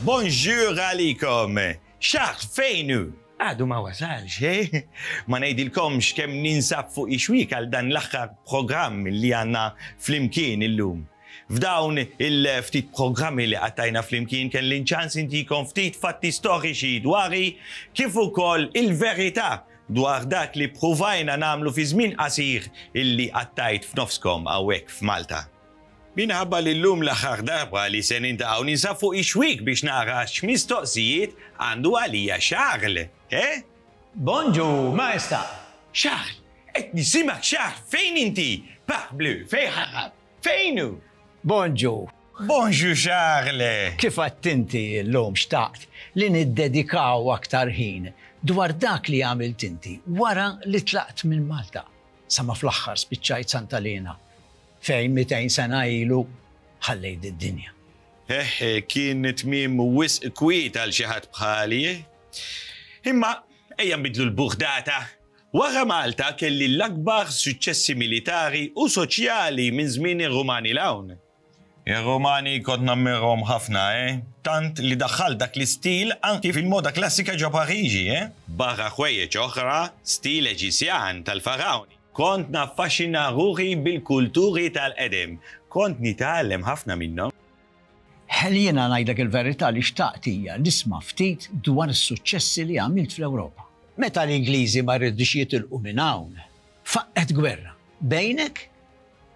Bonjour għalikom! Charles fejn hu? Għadu ma wasalx, eh? Ma ngħidilkomx kemm ninsab fuq ixwik għal dan l-aħħar programm li għandna flimkien illum. F'dawn il-ftit programmi li qattajna flimkien kelli ċans intikom ftit fatti storiċi dwari kif ukoll il-verità dwar dak li pruvajna nagħmlu fi żmien qasir illi qattajt f'nofskom hawnhekk f'Malta. Minħabba li llum l-aħħar darba li se nintaqgħu ninsab fuq ix-xwiek biex nara x'mistoqsijiet għandu għalija Charles, eh? Bonġu, Maestà! Charles! Qed nisimgħek Charles! Fejn inti? Parbleu, fejn ħarab? Fejn hu? Bonġu! Bonġu Charles! Kif għedt inti llum xtaqt li niddedikaw aktar ħin dwar dak li għamilt inti wara li tlaqt minn Malta sa ma fl-aħħar spiċċajt Santa Liena Fejn 200 sena ilu ħallejt did-dinja. Eħ, kien tmiem wisq kwiet għal xi ħadd bħali, eh? Imma ejja nbiddlu l-burdata. Wara Malta kelli l-akbar suċċessi militari u soċjali minn żmien ir-Rumani 'l hawn. Ir-Rumani kont nammirhom ħafna, eh? Tant li daħħalt dak l-istil anki fil-moda klassika ġo Pariġi, eh? Barra ħwejjeġ oħra, stil Eġizzjan tal-Farawni. Kont naffaxxina ruħi bil-kulturi tal-qedem. Kont nitgħallem ħafna minnhom. Hell jiena ngħidlek il-verità li xtaqt hija nisma' ftit dwar is-suċċessi li għamilt fl-Ewropa. Meta l-Ingliżi ma ridux jitilqu minn hawn, faqqgħet gwerra bejnek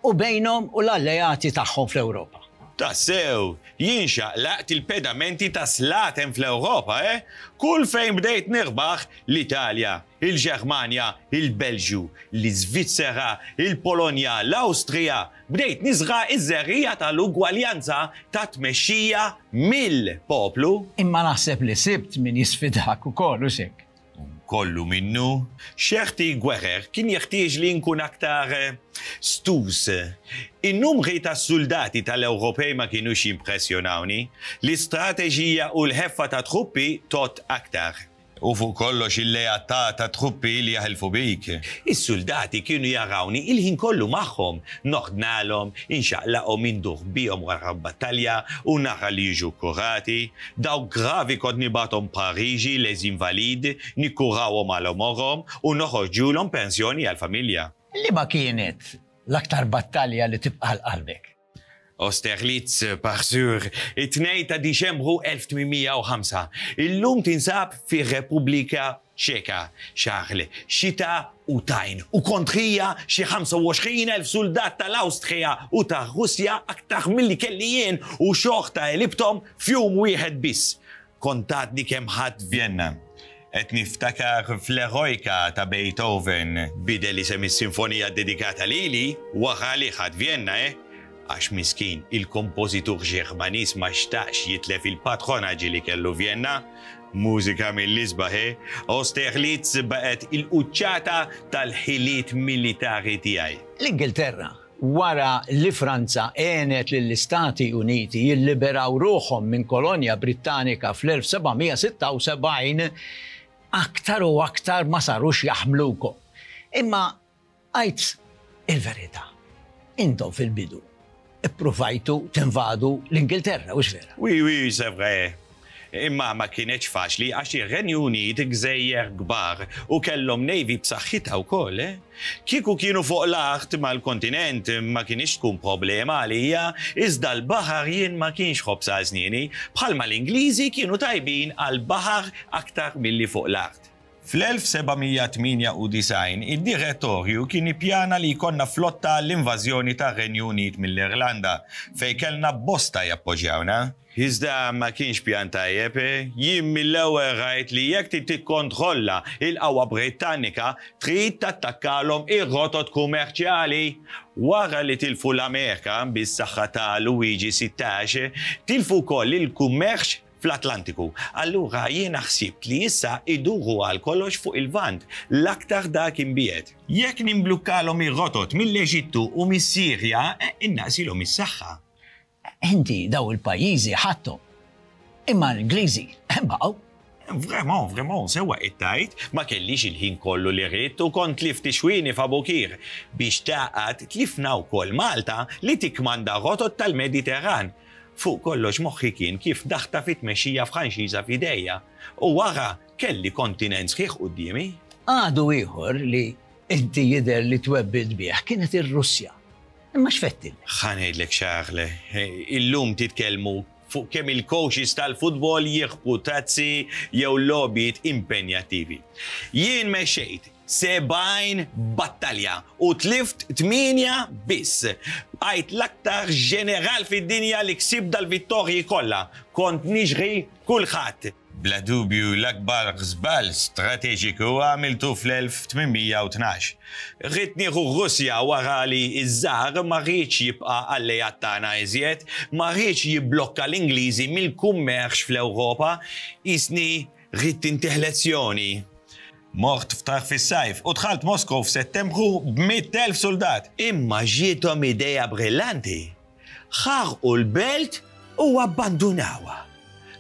u bejnhom u l-alleati tagħhom fl-Ewropa. Tassew, jien xaqlaqt il-pedamenti ta' slaten fl-Ewropa, eh? Kull fejn bdejt nirbaħ, l-Italja, il-Ġermanja, il-Belġju, l-Iżvizzera, il-Polonja, l-Awstrija, bdejt niżra' ż-żerriegħa tal-ugwaljanza ta' tmexxija mill-poplu. Imma naħseb li sibt min jisfidak ukoll, hux hekk? Kollu minnu. Xerti gwerer kien jeħtieġli nkun aktar stus. In-numri tas-suldati tal-Ewropej ma kinux jimpressjonawni. L-istrateġija u l-ħeffa ta' truppi tgħodd aktar. U fuq kollox il-lealtà tat-truppi li jaħilfu bik. Is-suldati kienu jarawni il-ħin kollu magħhom, noħdnalhom, inxaqlaqhom, indur bihom wara l-battalja u nara li jiġu kkurati. Dawk gravi kont nibgħathom Pariġi, Les Invalides, nikkurawhom għal għomorhom u noħorġulhom pensjoni għall-familja. Liema kienet l-aktar battalja li tibqa' għal qalbek? Austerlitz, par sûr, it-Tnejn ta' Diċembru 1805. Illum tinsab fir-Repubblika Ċeka. Charles, xita u tajn, u kontrija xi 25,000 suldat tal-Awstrija u tar-Russja aktar milli kelli jien u xorta għelibthom f'jum wieħed biss. Kont għadni kemm ħadt Vjenna. Qed niftakar fl-Eroica ta' Beethoven. Bidel isem is-sinfonija ddedikata lili wara li ħadt Vjenna, eh? Għax miskin, il-kompożitur Ġermaniż ma xtaqx jitlef il-patronaġġi li kellu Vjenna. Mużika mill-isbaħ, eh? Austerlitz baqgħet il-quċċata tal-ħiliet militari tiegħi. L-Ingilterra wara li Franza għenet lill-Istati Uniti jilliberaw ruħhom minn kolonja Brittanika fl-1776, aktar u aktar ma sarux jaħmlukom. Imma għid il-verità, intom fil-bidu ippruvajtu tinvadu l-Ingilterra, hux vera? Oui, oui, c'est vrai. Imma ma kinetx faċli għax ir-Renju Unit gżejjer kbar u kellhom navy b'saħħitha wkoll, eh? Kieku kienu fuq l-art mal-kontinent ma kinitx tkun problema għalija, iżda l-baħar jien ma kienx ħobż għal snieni, bħalma l-Ingliżi kienu tajbin għall-baħar aktar milli fuq l-art. Fl-1798 id-Direttorju kien ippjana li jkollna flotta għall-invażjoni tar-Renju Unit mill-Irlanda, fejn kellna bosta jappoġġjawna. Iżda ma kienx pjan tajjeb. Jien mill-ewwel rajt li jekk trid tikkontrolla l-qawwa Brittanika trid tattakkalhom ir-rotot kummerċjali. Wara li tilfu l-Amerika bis-saħħa ta' Luigi 16, tilfu wkoll il-kummerċ fl-Atlantiku. Allura jiena ħsibt li issa iduru għal kollox fuq il-Lvant, l-aktar dak imbiegħed. Jekk nimblukkalhom ir-rotot mill-Eġittu u mis-Sirja, innaqsilhom is-saħħa. Inti daw il-pajjiżi ħadthom. Imma l-Ingliżi baqgħu. Vraiment, vraiment, sewwa qed tgħid, ma kellix il-ħin kollu li ridt u kont tlift ix-xwieni f'Abukir. Biex tagħqad, tlifna wkoll Malta li tikkmanda rotot tal-Mediterran. Fuq kollox moħħi kien kif daħtaf it-tmexxija Franċiża f'idejja u wara kelli kontinent sħiħ quddiemi. Għadu ieħor li inti jidher li twebbilt bih kienet ir-Russja. Imma x'fettilek? Ħa ngħidlek Charles, illum titkellmu fuq kemm il-coaches tal-futbol jirbħu tazzi jew logħbiet impenjattivi. Jien mexxejt 70 battalja u tlift tmienja biss. Bqajt l-aktar ġeneral fid-dinja li ksibt dal-vittorji kollha. Kont niġri kulħadd. Bla dubju l-akbar żball strateġiku għamiltu fl-1812. Ridt nieħu r-Russja wara li ż-Czar ma riedx jibqa' alleat tagħna iżjed, ma riedx jibblokka l-Ingliżi mill-kummerċ fl-Ewropa. Qisni ridt intih lezzjoni. Mort f'tarf is-sajf u dħalt Moskow f'Settembru b'100,000 suldat. Imma ġiethom idea brillanti. Ħarqu l-belt u abbandunawha.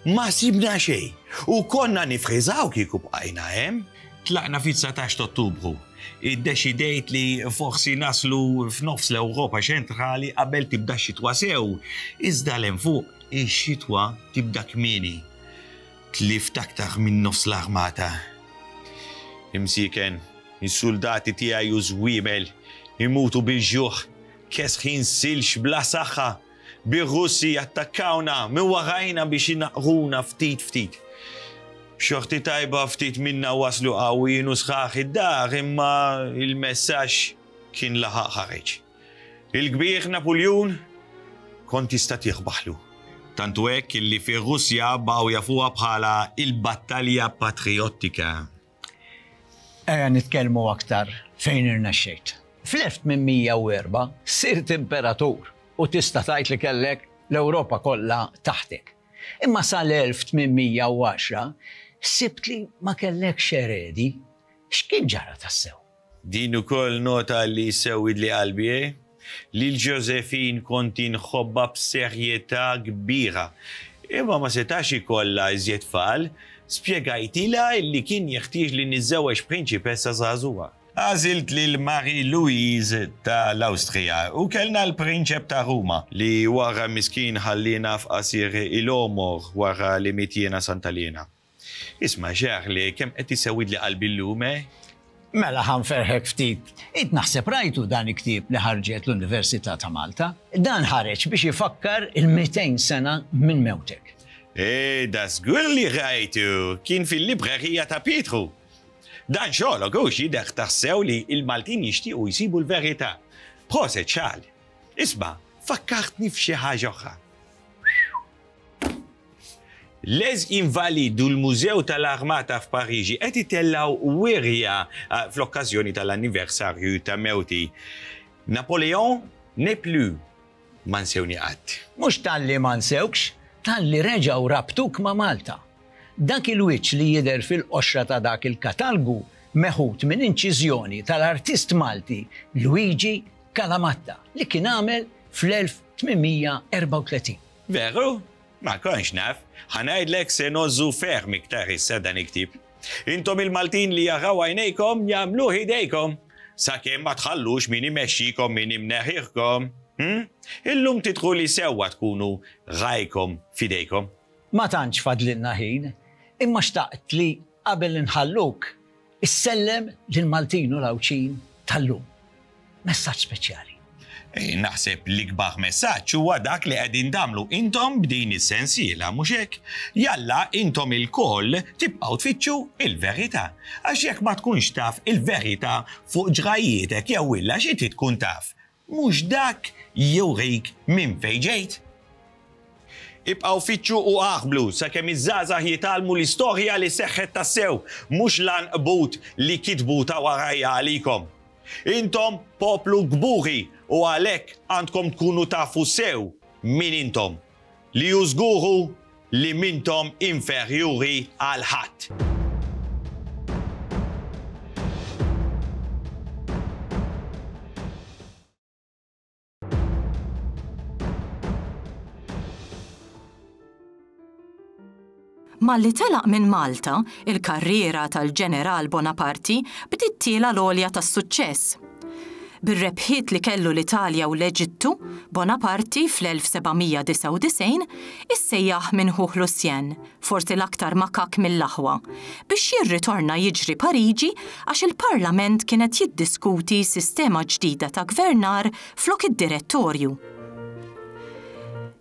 Ma sibna xejn u konna nifriżaw kieku bqajna hemm. Tlaqna fit-19 t'Ottubru. Iddeċidejt li forsi naslu f'nofs l-Ewropa ċentrali qabel tibda x-xitwa sew, iżda 'l hemm fuq ix-xitwa tibda kmieni. Tlift aktar minn nofs l-armata. Imsieken, is-suldati tiegħi u żwiemel imutu bil-ġuħ, kesħin silġ bla saħħa, bir-Russi jattakkawna minn warajna biex inaqqruna ftit ftit. B'xorti tajba ftit minna waslu qawwijin u sħaħ id-dar imma l-messaġġ kien laħaq ħareġ. Il-kbir Napuljun kont tista' tirbaħlu. Tant hu hekk illi fir-Russja baqgħu jafuha bħala il-Battalja Patrijottika. Ejja nitkellmu aktar fejn irnexxejt. Fl-1804 sirt imperatur u tista' tgħid li kellek l-Ewropa kollha taħtek. Imma sal-1810 sibt li ma kellekx eredi. X'kien ġara tassew? Din ukoll nota li sewwidli qalbi, eh? Lil Josephine kont inħobbha b'serjetà kbira. Imma ma setax ikollha iżjed tfal. Spjegajtilha li kien jeħtieġli niżżewweġ prinċipessa żagħżugħa. Għażilt lil Marie Louise ta' l-Awstrija u kellna l-Prinċep ta' Ruma, li wara miskin ħalliena f'qasir il-għomor wara li miet jiena Santa Liena. Isma' Charlie, kemm qed isewwidli qalbi llum, eh? Mela ħa nferrħek ftit. Int naħseb rajtu dan il-ktieb li ħarġet l-Università ta' Malta. Dan ħareġ biex ifakkar il-200 sena minn mewtek. Eh, da żgur li rajtu! Kien fil-librerija ta' Pietru. Dan xogħlok hux jidher tassew li l-Maltin jixtiequ jsibu l-verità. Proset Charles. Isma', fakkartni f'xi ħaġa oħra. Les Invalides u l-Mużew tal-Armata f'Pariġi qed itellgħu wirja fl-okkażjoni tal-anniversarju ta' mewti. Napoléon n'est plus ma nsewni qatt. Mhux talli ma nsewkx, talli reġgħu rabtuk ma' Malta. Dak il-wiċċ li jidher fil-qoxra ta' dak il-katalgu meħud minn inċiżjoni tal-artist Malti Luigi Calamatta li kien għamel fl-1834. Veru? Ma kontx naf. Ħa ngħidlek se ngħożżu ferm iktar issa dan il-ktieb. Intom il-Maltin li jaraw għajnejkom jagħmluh idejkom. Sakemm ma tħallux min imexxikom min imneħħiħkom. Hm? Illum tidhru li sewwa tkunu rajkom f'idejkom. Ma tantx fadlilna ħin, imma xtaqt li qabel inħalluk Issellem lill-Maltin u l-Għawdxin tal-lum. Messaġġ speċjali. Naħseb l-ikbar messaġġ huwa dak li qegħdin tagħmlu intom b'din is-sensiela, mhux hekk? Jalla intom ilkoll tibqgħu tfittxu il-verità. Għax jekk ma tkunx taf il-verità fuq ġrajjietek jew illa xi trid tkun taf, Mhux dak jurik minn fejn ġejt? Ibqgħu fittxu u aqblu sakemm iż-żgħażagħ jitgħallmu l-istorja li seħħet tassew, mhux l-għanqbut li kitbu ta' warajja għalikom. Intom poplu kburi u għalhekk għandkom tkunu tafu sew min intom, li hu żgur hu li m'intom inferjuri għal ħadd. Malli telaq minn Malta, il-karriera tal-Ġeneral Bonaparti bdiet tiela' l-għolja tas-suċċess. Bir-rebħiet li kellu l-Italja u l-Eġittu, Bonaparti fl-1799 issejjaħ minn ħuh Lucien, forsi l-aktar makakk mill-aħwa, biex jirritorna jiġri Pariġi għax il-Parlament kien qed jiddiskuti sistema ġdida ta' gvernar flok id-Direttorju.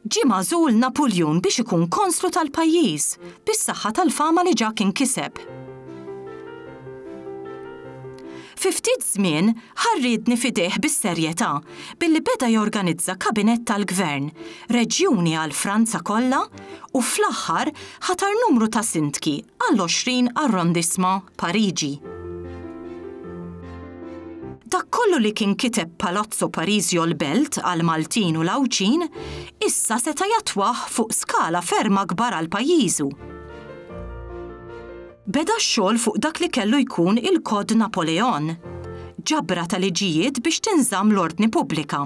Ġie magħżul Napuljun biex ikun konslu tal-pajjiż, bis-saħħa tal-fama li ġa kien kiseb. Fi ftit żmien ħa r-riedni f'idejh bis-serjetà billi beda jorganizza kabinett tal-gvern, reġjuni għal Franza kollha u fl-aħħar ħatar numru ta' sindki għall-20 arrondissement Pariġi. Dak kollu li kien kiteb Palazzo Parisio l-Belt għall-Maltin u l-Għawdxin, issa seta' jattwah fuq skala ferm akbar għal pajjiżu. Beda x-xogħol fuq dak li kellu jkun il-Code Napoléon, ġabra ta' liġijiet biex tinżamm l-ordni pubblika.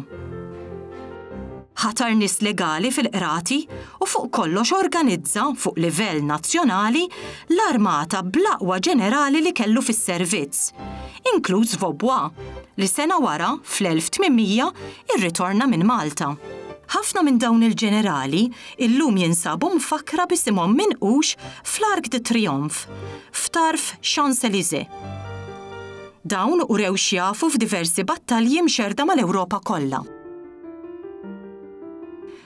Ħatar nies legali fil-qrati u fuq kollox organizza, fuq livell nazzjonali, l-armata bl-aqwa ġenerali li kellu fis-servizz, inkluż Vaubois, li sena wara, fl-1800, irritorna minn Malta. Ħafna minn dawn il-ġenerali illum jinsabu mfakkra b'isimhom minqux fl-Arc de Triomphe, f'tarf Champs-Élysées. Dawn urew x'jafu f'diversi battalji mxerrda mal-Ewropa kollha.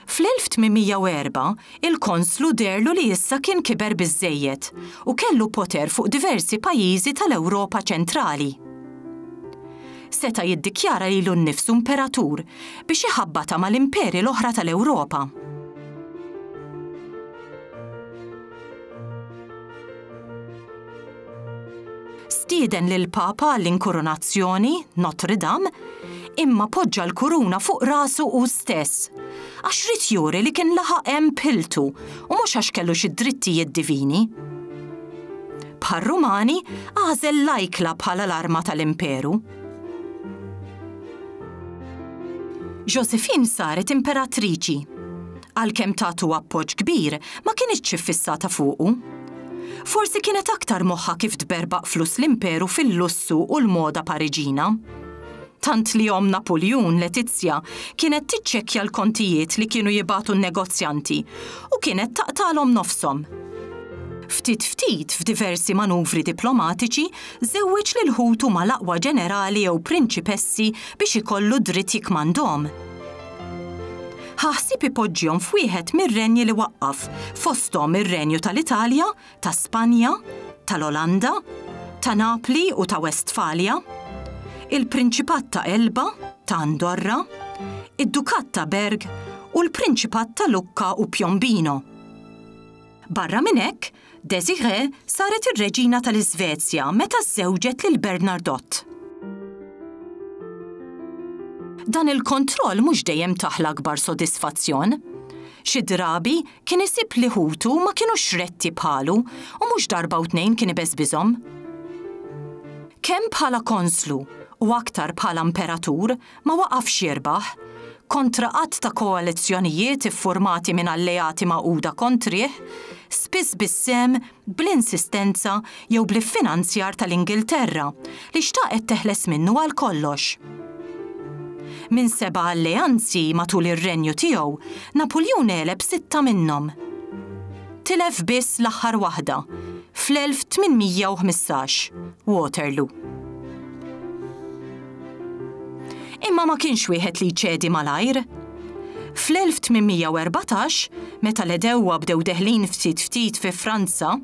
Fl-1804, il-konslu deherlu li issa kien kiber biżżejjed u kellu poter fuq diversi pajjiżi tal-Ewropa ċentrali. Seta' jiddikjara lilu nnifsu imperatur biex iħabbatha mal-imperi l-oħra tal-Ewropa. Stieden lill-Papa għall-inkurunazzjoni, Notre Dame, imma poġġa l-kuruna fuq rasu hu stess, għax ried juri li kien laħaq hemm b'ħiltu u mhux għax kellu xi drittijiet divini. Bħar-Rumani, għażel l-ajkla bħala l-arma tal-imperu. Josephine saret imperatriċi. Għalkemm tatu appoġġ kbir, ma kinitx iffissata fuqu. Forsi kienet aktar moħħha kif tberbaq flus l-imperu fil-lussu u l-moda Pariġina. Tant li omm Napuljun, Letizia, kienet tiċċekkja l-kontijiet li kienu jibagħtu n-negozjanti u kienet taqtagħlhom nofshom. Ftit ftit, f'diversi manuvri diplomatiċi, żewweġ lil ħutu mal-aqwa ġenerali jew prinċipessi biex ikollu dritt jikkmandhom. Ħa ħsieb ipoġġihom f'wieħed mir-renji li waqqaf, fosthom ir-Renju tal-Italja, ta' Spanja, tal-Olanda, ta' Napli u ta' Westfalja, il-Prinċipat ta' Elba, ta' Andorra, id-Dukat ta' Berg u l-Prinċipat ta' Lucca u Piombino. Barra minn hekk, Désirée saret ir-Reġina tal-Iżvezja meta żżewġet lil Bernardot. Dan il-kontroll mhux dejjem tah l-akbar sodisfazzjon. Xi drabi kien isib li ħutu ma kinux retti bħalu u mhux darba u tnejn kien ibeżbiżhom. Kemm bħala konslu u aktar bħala imperatur ma waqafx jirbaħ, kontra għadd ta' koalizzjonijiet iffurmati minn alleati magħquda kontrih, spiss bis-sehem, bl-insistenza jew bl-iffinanzjar tal-Ingilterra, li xtaqet teħles minnu għal kollox. Minn seba' alleanzi matul ir-renju tiegħu, Napuljun għeleb sitta minnhom. Tilef biss l-aħħar waħda, fl-1815, Waterloo. Imma ma kienx wieħed li jċedi malajr. Fl-1814, meta l-għedewwa bdew deħlin ftit ftit fi Franza,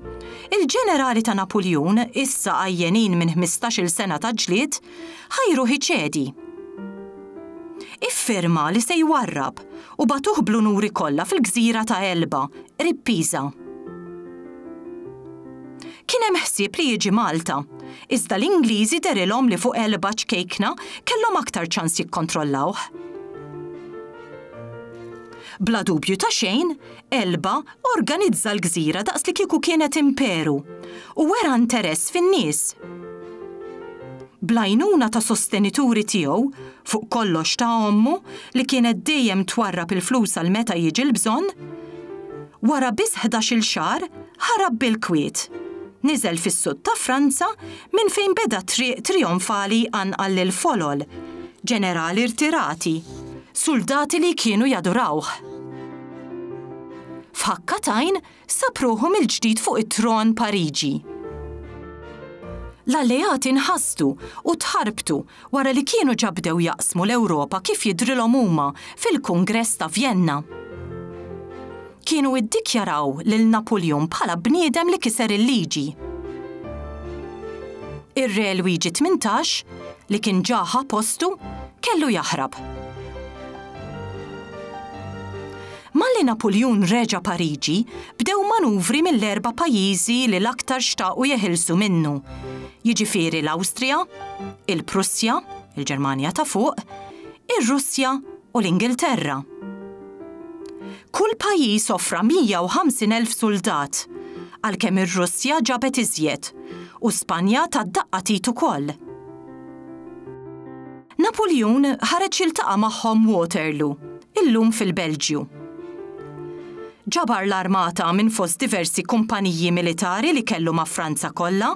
il-ġenerali ta' Napuljun, issa għajjenin minn ħmistax-il sena ta' ġlied, ħajruh iċedi. Iffirma li se jwarrab u bagħtuh bl-unuri kollha fil-gżira ta' Elba, qrib Pisa. Kien hemm ħsieb li jiġi Malta, iżda l-Ingliżi dehrilhom li fuq Elba ċkejkna kellhom aktar ċans jikkontrollawh. Bla dubju ta' xejn, Elba organizza l-gżira daqs li kieku kienet imperu u wera interess fin-nies. Bl-għajnuna ta' sostenituri tiegħu, fuq kollox ta' ommu li kienet dejjem twarrab il-flus għal meta jiġi l-bżonn, wara biss ħdax-il xahar ħarab bil-kwiet. Niżel fis-sud ta' Franza minn fejn beda triq trijonfali jqanqal lill-folol. ġenerali rtirati, suldati li kienu jadurawh. F'ħakka t'għajn sab ruħu mill-ġdid fuq it-tron Pariġi. L-Alleati nħasdu u tħarbtu wara li kienu ġa bdew jaqsmu l-Ewropa kif jidhrilhom huma fil-Kungress ta' Vjenna. Kienu iddikjaraw lil Napuljun bħala bniedem li kiser il-liġi. Ir-Re Lwiġi 18, li kien ġa ħa postu, kellu jaħrab. Malli Napuljun reġa' Pariġi, bdew manuvri mill-erba' pajjiżi li l-aktar xtaqu jeħilsu minnu, jiġifieri l-Awstrija, il-Prussja, il-Ġermanja ta' Fuq, ir-Russja u l-Ingilterra. Kull pajjiż offra 150,000 suldat, għalkemm ir-Russja ġabet iżjed u Spanja tat daqqa t'id ukoll. Napuljun ħareġ jiltaqa' magħhom Waterloo, illum fil-Belġju. Ġabar l-armata minn fost diversi kumpaniji militari li kellu ma' Franza kollha,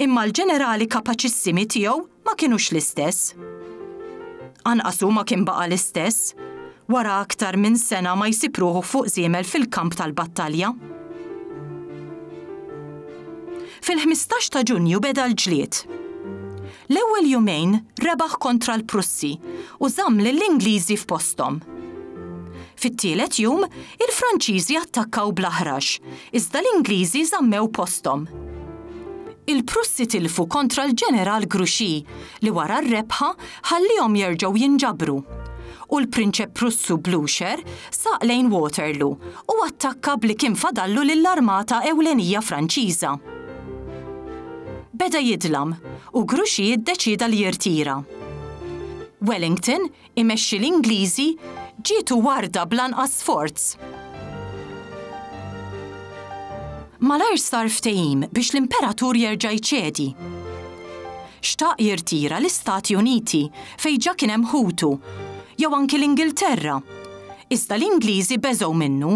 imma l-ġenerali kapaċissimi tiegħu ma kinux l-istess. Anqas hu ma kien baqa' l-istess, wara aktar minn sena ma jsib ruħu fuq żiemel fil-kamp tal-battalja. Fil-15 ta' Ġunju beda l-ġlied. L-ewwel jumejn rebaħ kontra l-Prussi u żamm lill-Ingliżi f'posthom. Fit-tielet jum, il-Franċiżi attakkaw bl-aħrax, iżda l-Ingliżi żammew posthom. Il-Prussi tilfu kontra l-Ġeneral Grouchy li wara r-rebħa ħalliehom jerġgħu jinġabru. U l-Prinċep Prussu Blucher saq lejn Waterloo u attakka b'li kien fadallu lill-armata ewlenija Franċiża. Beda jidlam u Grouchy iddeċieda li jirtira. Wellington, imexxi l-Ingliżi, ġietu warda bl-anqas sforz. Malajr sar ftehim biex l-Imperatur jerġa' jċedi. Xtaq jirtira l-Istati Uniti, fejn ġa kien hemm ħutu, jew anki l-Ingilterra. Iżda l-Ingliżi beżgħu minnu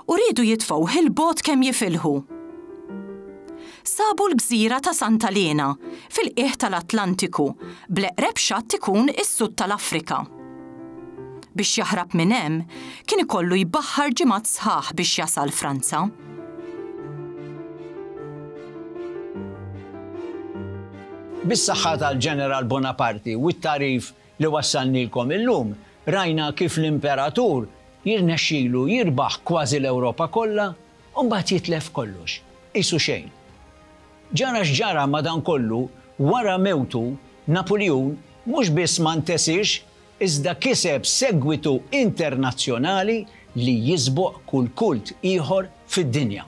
u riedu jitfgħuh 'il bogħod kemm jifilħu. Sabu l-gżira ta' Santa Liena, fil-qiegħ tal-Atlantiku, bl-eqreb xatt ikun is-sud tal-Afrika. Biex jaħrab minn hemm, kien ikollu jbaħħar ġimgħat sħaħ biex jasal Franza. Bis-saħħa tal-Ġeneral Bonaparti u t-tagħrif li wassalnielkom illum, rajna kif l-Imperatur jirnexxilu jirbaħ kważi l-Ewropa kollha u mbagħad jitlef kollox, qisu xejn. Ġara x'ġara madankollu, wara mewtu, Napuljun mhux biss ma ntesiex iżda kiseb segwitu internazzjonali li jisboq kull kult ieħor fid-dinja.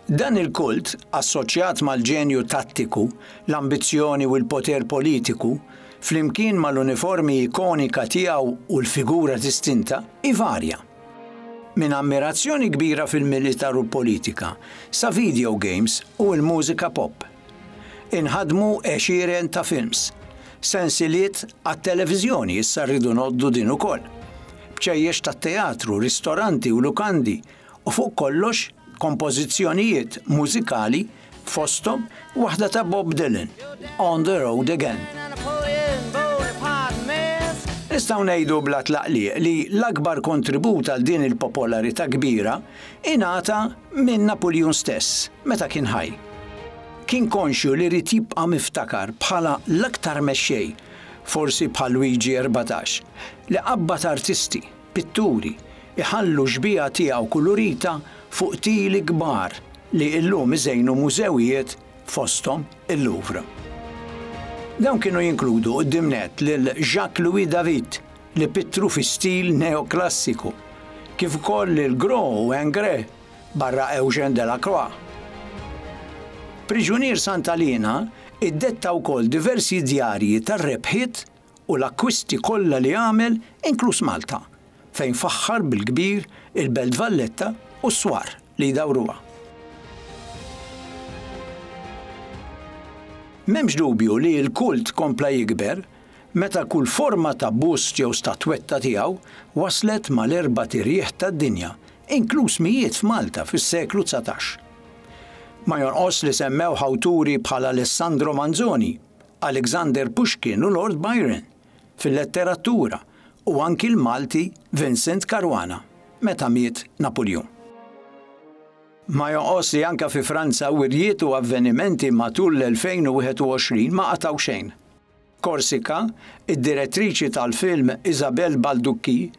Dan il-kult, assoċjat mal-ġenju tattiku, l-ambizzjoni u l-poter politiku, flimkien mal-uniformi ikonika tiegħu u l-figura distinta, ivarja. Minn ammirazzjoni kbira fil-militar u l-politika, sa video games u l-mużika pop. Inħadmu għexieren ta' films, sensiliet għat-televiżjoni, issa rridu ngħoddu din ukoll, bċejjex tat-teatru, ristoranti u lukandi u fuq kollox kompożizzjonijiet mużikali fosthom waħda ta' Bob Dylan, On the Road Again. Nistgħu ngħidu bla tlaqliq li l-akbar kontribut għal din il-popolarità kbira ingħata minn Napuljun stess meta kien ħaj. Kien konxju li ried jibqa' miftakar bħala l-aktar mexxej, forsi bħal Luigi 14, li qabbad artisti, pitturi, iħallu xbieha tiegħu kulurita fuq tili kbar li illum iżejnu mużewijiet fosthom il-Louvre. Dawn kienu jinkludu quddiem nett lil Jacques Louis David li pittru fi stil neoklassiku, kif ukoll lil Gros u Ingres barra Eugène Delacroix. Priġunier Santa Liena iddetta wkoll diversi djarji tar-rebħiet u l-akkwisti kollha li għamel inkluż Malta, fejn faħħar bil-kbir il-Belt Valletta u s-swar li jdawruha. M'hemmx dubju li l-kult kompla jikber meta kull forma ta' bust jew statwetta tiegħu waslet mal-erbat irjieħ tad-dinja, inkluż mijiet f'Malta fis-seklu 19. Ma jonqosx li semmewh awturi bħal Alessandro Manzoni, Alexander Pushkin u Lord Byron. fil-letteratura u anki l-Malti Vincent Caruana meta miet Napuljun. Ma jonqos li anke fi Franza wirjiet u avvenimenti matul l-2021 ma qatgħu xejn. Korsika, id-direttriċi tal-film Isabelle Balducchi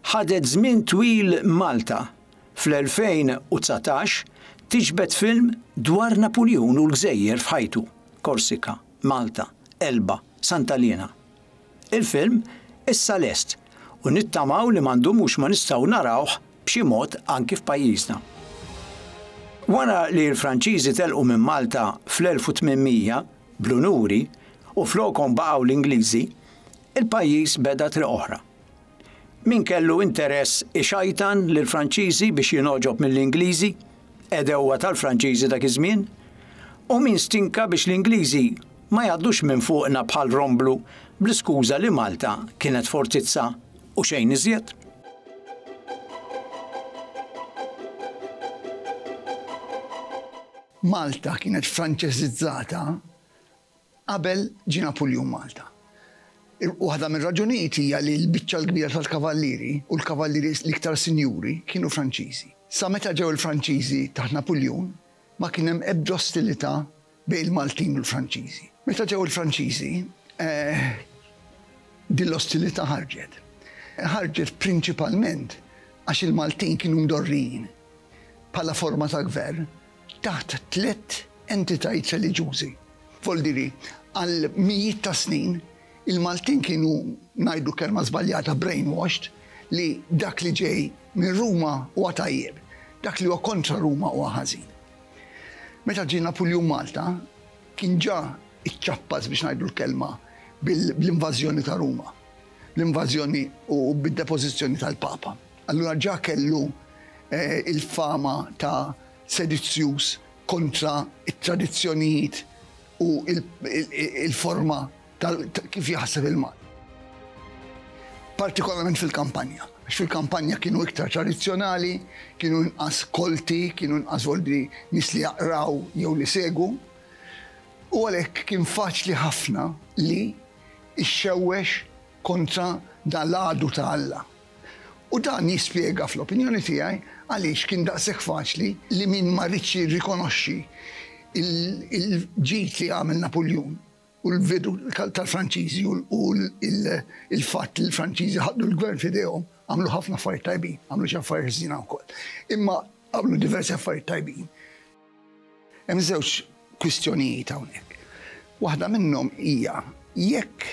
ħadet żmien twil Malta fl-2019 tiġbed film dwar Napuljun u l-gżejjer f'ħajtu, Korsika, Malta, Elba, Santa Liena. Il-film issa lest u nittamaw li ma ndumux ma nistgħu narawh b'xi mod anki f'pajjiżna. Wara li l-Franċiżi telqu minn Malta fl-1800 bl-unuri u flokhom baqgħu l-Ingliżi, il-pajjiż beda triq oħra. Min kellu interess ixajtan lill-Franċiżi biex jingħoġob mill-Ingliżi, għedewwa tal-Franċiżi dak iż-żmien, u min stinka biex l-Ingliżi ma jgħaddux minn fuqna bħal romblu bl-iskuża li Malta kienet fortizza u xejn iżjed. Malta kienet Franċeżizzata qabel ġie Napuljun Malta. Waħda mir-raġunijiet hija li l-biċċa l-kbira tal-kavallieri u l-kavallieri l-iktar sinjuri kienu Franċiżi. Sa meta ġew il-Franċiżi taħt Napuljun ma kien hemm ebda ostilità bejn il-Maltin u l-Franċiżi. Meta ġew il-Franċiżi, din l-ostilità ħarġet. Ħarġet prinċipalment għax il-Maltin kienu mdorrijin bħala forma ta' gvern taħt tlett entitajiet reliġjużi. Voldiri, għal mijiet ta' snin, il-Maltin kienu, ngħidu kelma żbaljata, brainwashed, li dak li ġej minn Ruma huwa tajjeb, dak li huwa kontra Ruma huwa ħażin. Meta ġie Napuljun Malta, kien ġa iċċappas biex ngħidu l-kelma bl-invażjoni ta' Ruma, l-invażjoni u bid-depożizzjoni tal-Papa. Allura ġa kellu eh, il-fama ta' sedizzjuż kontra t-tradizzjonijiet u il-forma ta' kif jaħseb il-Malti. Partikolarment fil-kampanja. Għax fil-kampanja kienu iktar tradizzjonali, kienu inqas kolti, kienu inqas volbi nies li jaqraw jew li segu. U għalhekk kien faċli ħafna li ixxewwex kontra dan l-għadu ta' Alla. U dan jispjega fl-opinjoni tiegħi għaliex kien daqshekk faċli li min ma riedx jirrikonoxxi l-ġid li għamel Napuljun u l-bidu tal-Franċiżi u l-fatt li l-Franċiżi ħadu l-gvern f'idejhom, għamlu ħafna affarijiet tajbin, għamlu xi affarijiet ħżiena wkoll. Imma għamlu diversi affarijiet tajbin. Hemm żewġ kwistjonijiet hawnhekk. Waħda minnhom hija jekk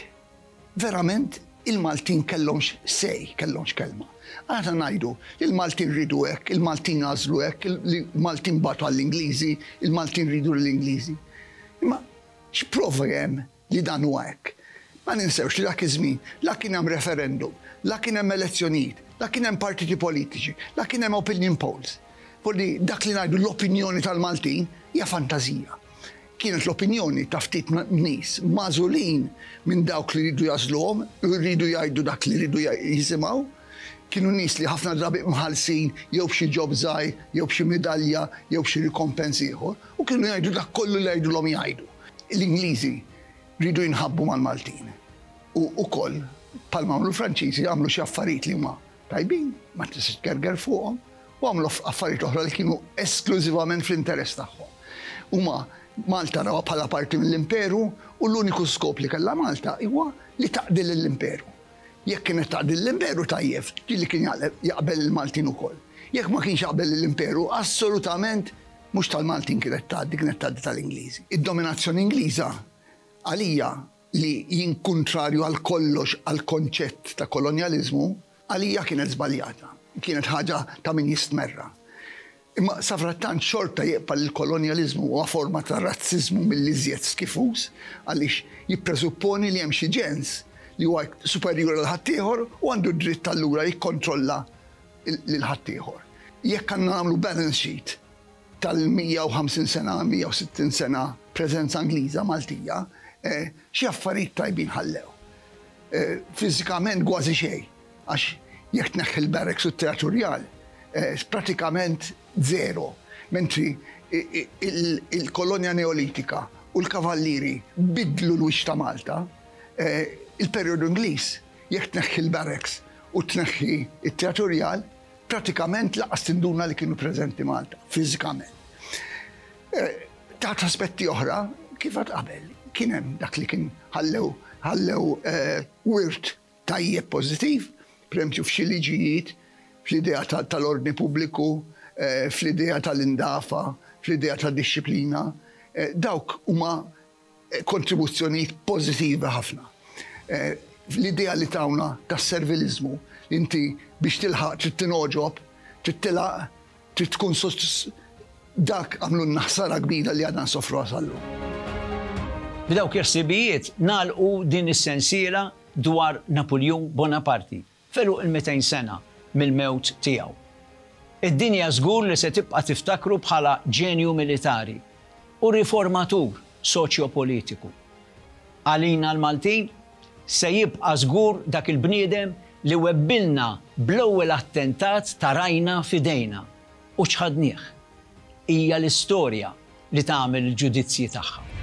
verament il-Maltin kellhomx say, kellhomx kelma. Aħna ngħidu li l-Maltin riedu hekk, il-Maltin għażlu hekk, il-Maltin bagħtu għall-Ingliżi, il-Maltin riedu lill-Ingliżi. Imma x'prova hemm li dan huwa hekk? Ma ninsewx li dak iż-żmien la kien hemm referendum, la kien hemm elezzjonijiet, la kien hemm partiti politiċi, la kien hemm opinion polls. Vuol dak li ngħidu l-opinjoni tal-Maltin hija fantażija. Kienet l-opinjoni ta' ftit nies magħżulin minn dawk li riedu jagħżluhom u jridu jgħidu dak li riedu jisimgħu. Kienu nies li ħafna drabi mħallsin jew b'xi job żgħir jew b'xi midalja jew b'xi rikompens ieħor u kienu jgħidu dak kollu li jgħidulhom jgħidu. L-Ingliżi riedu jinħabbu mal-Maltin u wkoll bħalma għamlu l-Franċiżi għamlu xi affarijiet li huma tajbin, ma tistax tgerger fuqhom, u għamlu affarijiet oħra li kienu esklużivament fl-interess tagħhom. Huma Malta rawha bħala parti mill-imperu u l-uniku skop li kellha Malta huwa li taqdi lill-imperu. Jekk kienet taqdi lill-imperu tajjeb, ġieli kien jaqbel il-Maltin ukoll. Jekk ma kienx jaqbel lill-imperu, assolutament mhux tal-Maltin kienet tgħaddi, kienet tgħaddi tal-Ingliżi. Id-dominazzjoni Ingliża għalija li jien kuntrarju għal kollox għall-konċett ta' kolonjaliżmu, għalija kienet żbaljata. Kienet ħaġa ta' min jistmerrha. Imma safrattant xorta jibqa' li l-kolonjaliżmu huwa forma ta' razziżmu mill-iżjed skifuż għaliex jippresupponi li hemm xi ġens li huwa superjuri għal ħaddieħor u għandu d-dritt allura jikkontrolla lil ħaddieħor. Jekk għandna nagħmlu balance sheet tal-150 sena, 160 sena preżenza Ingliża Maltija, xi affarijiet tajbin ħallew. Fiżikament kważi xejn, għax jekk tneħħi l-barracks u t-teatru rjal, pratikament zero. Mentri il-kolonja Neolitika u l-Kavallieri biddlu l-wiċċ ta' Malta. Il-perjodu Ingliż, jekk tneħħi l-barracks u tneħħi t-Teatru Rjal, pratikament lanqas tinduna li kienu preżenti Malta, fiżikament. Taħt aspetti oħra, kif għad qabel, kien hemm dak li kien ħallew ħallew wirt tajjeb pożittiv, pereżempju f'xi liġijiet, fl-idea tal-ordni pubbliku, fl-idea tal-indafa, fl-idea tad-dixxiplina, dawk huma kontribuzzjonijiet pożittivi ħafna. L-idea li tawna tas-serviliżmu, li inti biex tilħaq trid tingħoġob, trid tilgħaq, trid tkun dak għamlulna ħsara kbira li għadna nsofruha sal-lum. B'dawk il-ħsibijiet nagħlqu din is-sensiela dwar Napuljun Bonaparti f'għeluq il-200 sena mill-mewt tiegħu. Id-dinja żgur li se tibqa' tiftakru bħala ġenju militari u riformatur soċjopolitiku. Għalina l-Maltin, se jibqa' żgur dak il-bniedem li webbilna bl-ewwel attentat ta' rajna f'idejna u ċħadnieh. Hija l-istorja li tagħmel il-ġudizzji tagħha.